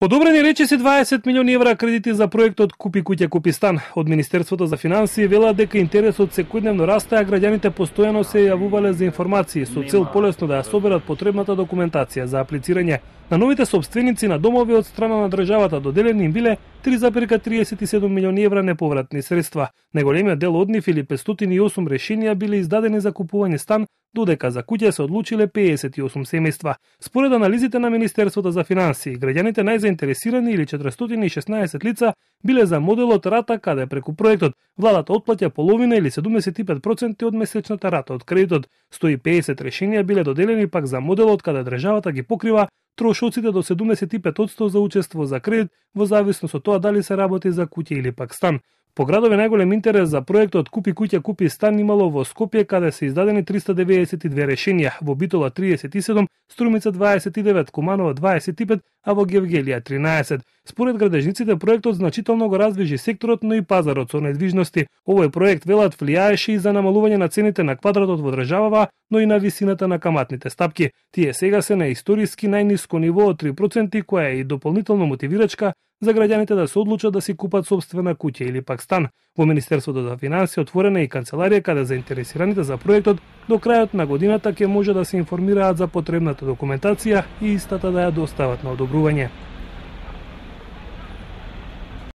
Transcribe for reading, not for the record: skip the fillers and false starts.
Одобрени речиси 20 милиони евра кредити за проектот Купи куќа, купи стан. Од Министерството за финансии велат дека интересот секојдневно расте, а граѓаните постојано се јавувале за информации со цел полесно да ја соберат потребната документација за аплицирање. На новите собственици на домови од страна на државата доделени им биле 3,37 милиони евра неповратни средства. Најголемиот дел од нив или 508 решенија биле издадени за купување стан, додека за куќа се одлучиле 58 семејства. Според анализите на Министерството за финансии, граѓаните најзаинтересирани или 416 лица биле за моделот рата, каде преку проектот владата отплаќа половина или 75% од месечната рата од кредитот. 150 решенија биле доделени пак за моделот каде државата ги покрива трошоците до 75% за учество за кредит во зависност од тоа дали се работи за куќа или пак стан. По градови најголем интерес за проектот Купи куќа, купи стан имало во Скопје, каде се издадени 392 решенија, во Битола 37, Струмица 29, Куманова 25, а во Гевгелија 13. Според градежниците, проектот значително го раздвижи секторот, но и пазарот со недвижности. Овој проект, велат, влијаеше и за намалување на цените на квадратот во државава, но и на висината на каматните стапки. Тие сега се на историски најниско ниво од 3%, која е и дополнително мотивирачка за граѓаните да се одлучат да си купат собствена куќа или пак стан. Во Министерството за финансии отворена и канцеларија каде заинтересираните за проектот до крајот на годината ќе може да се информираат за потребната документација и истата да ја достават на одобрување.